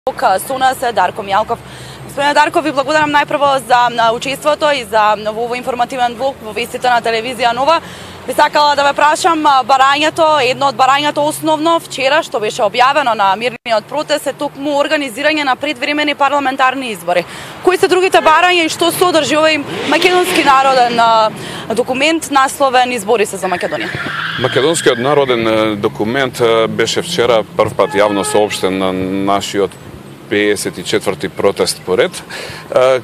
Со нас е Дарко Мјалков. Господине Дарко, ви благодарам најпрво за учеството и за овој информативен блок во вестите на телевизија Нова. Би сакала да ве прашам барањето, едно од барањето основно вчера што беше објавено на мирниот протест е токму организирање на предвремени парламентарни избори. Кои се другите барања и што содржи овој македонски народен документ насловен Избори се за Македонија? Македонскиот народен документ беше вчера првпат јавно соопштен на нашиот 54-ти протест поред,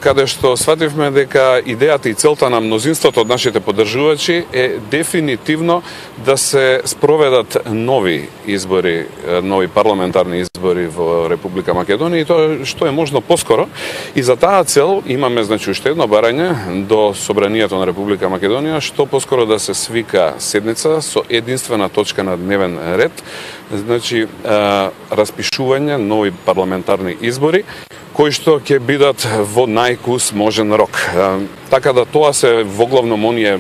каде што свативме дека идејата и целта на мнозинството од нашите поддржувачи е дефинитивно да се спроведат нови избори, нови парламентарни избори во Република Македонија и тоа што е можно поскоро. И за таа цел имаме уште едно барање до Собранието на Република Македонија што поскоро да се свика седница со единствена точка на дневен ред, распишување нови парламентарни избори кои што ќе бидат во најкус можен рок. Така да тоа се воглавном оние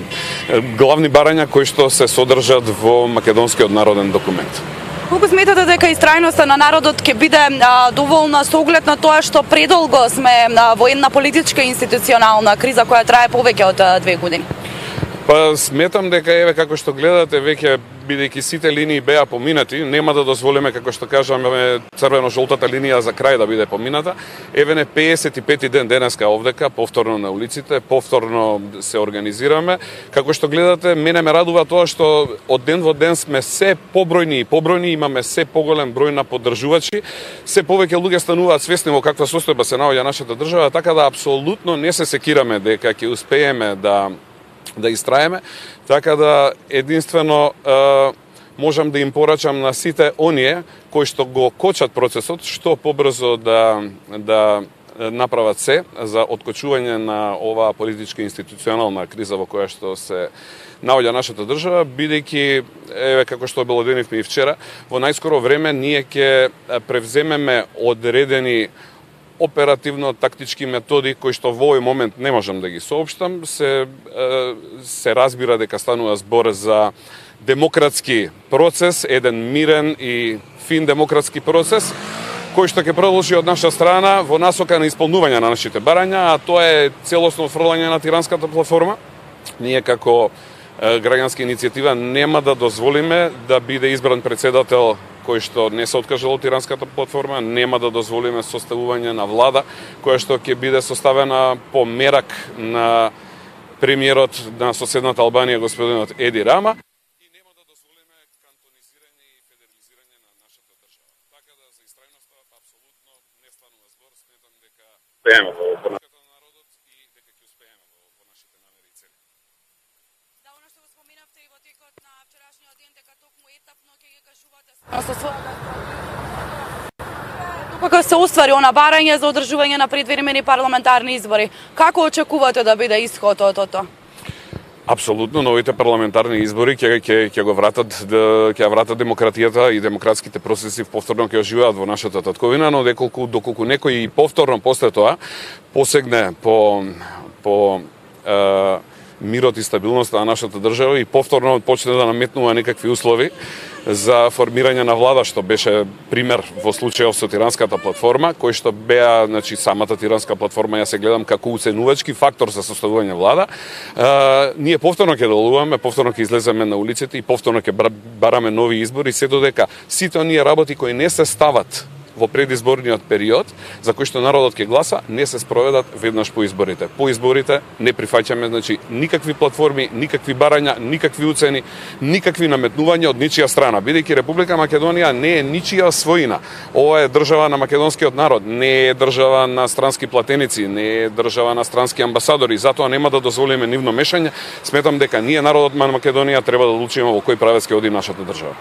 главни барања кои што се содржат во македонскиот народен документ. Колку сметате дека истрајноста на народот ќе биде доволна со оглед на тоа што предолго сме во една политичка институционална криза која трае повеќе од 2 години? Па сметам дека еве како што гледате веќе бидејќи сите линии беа поминати, нема да дозволиме како што кажаме црвено-жолтата линија за крај да биде помината. Еве не 55-ти ден денеска овдека повторно на улиците, повторно се организираме. Како што гледате, мене ме радува тоа што од ден во ден сме се побројни и побројни, имаме се поголем број на поддржувачи, се повеќе луѓе стануваат свесни во каква состојба се наоѓа нашата држава, така да апсолутно не се секираме дека ќе успееме да истраеме, така да единствено можам да им порачам на сите оние кои што го кочат процесот, што побрзо да направат се за откочување на оваа политичка институционална криза во која што се наоѓа нашата држава, бидејќи, еве како што обелоденивме и вчера, во најскоро време ние ќе превземеме одредени оперативно-тактички методи кои што во овој момент не можам да ги соопштам, се разбира дека станува збор за демократски процес, еден мирен и фин демократски процес, кој што ќе продолжи од наша страна во насока на исполнување на нашите барања, а тоа е целосно отфрлање на тиранската платформа. Ние како граѓанска иницијатива нема да дозволиме да биде избран председател кој што не се откажал од тиранската платформа, нема да дозволиме составување на влада која што ќе биде составена по мерак на премиерот на соседната Албанија господинот Еди Рама и нема да дозволиме кантонизирање и федерализирање на нашата држава. Така да за истрајноста апсолутно не станува збор, сметам дека успееме во на народот и дека ќе успееме во нашите намери и цели. Да, она што го споминавте и во текот на вчерашниот ден дека токму етапно ќе ги кажувате со својата кога се оствари она барање за одржување на предвремени парламентарни избори. Како очекувате да биде исходот од тоа? Апсолутно, новите парламентарни избори ќе го вратат, ќе вратат демократијата и демократските процеси повторно ќе оживеат во нашата татковина, но доколку некој и повторно после тоа посегне по мирот и стабилноста на нашата држава и повторно почне да наметнува некакви услови за формирање на влада, што беше пример во случајов со тиранската платформа, кој што беа, самата тиранска платформа ја се гледам како уценувачки фактор за составување влада. Ние повторно ќе делуваме, повторно ќе излеземе на улиците и повторно ќе бараме нови избори, се додека сите оние работи кои не се стават во предизборниот период, за кој што народот ќе гласа, не се спроведат веднаш по изборите. По изборите не прифаќаме никакви платформи, никакви барања, никакви уцени, никакви наметнувања од ничија страна. Бидејќи Република Македонија не е ничија својина. Ова е држава на македонскиот народ, не е држава на странски платеници, не е држава на странски амбасадори, затоа нема да дозволиме нивно мешање. Сметам дека ние, народот на Македонија, треба да одлучиме во кој правец ќе оди нашата држава.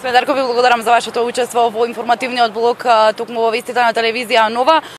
Дарко, ви благодарам за вашето учество во информативниот блок токму во вестите на телевизија Нова.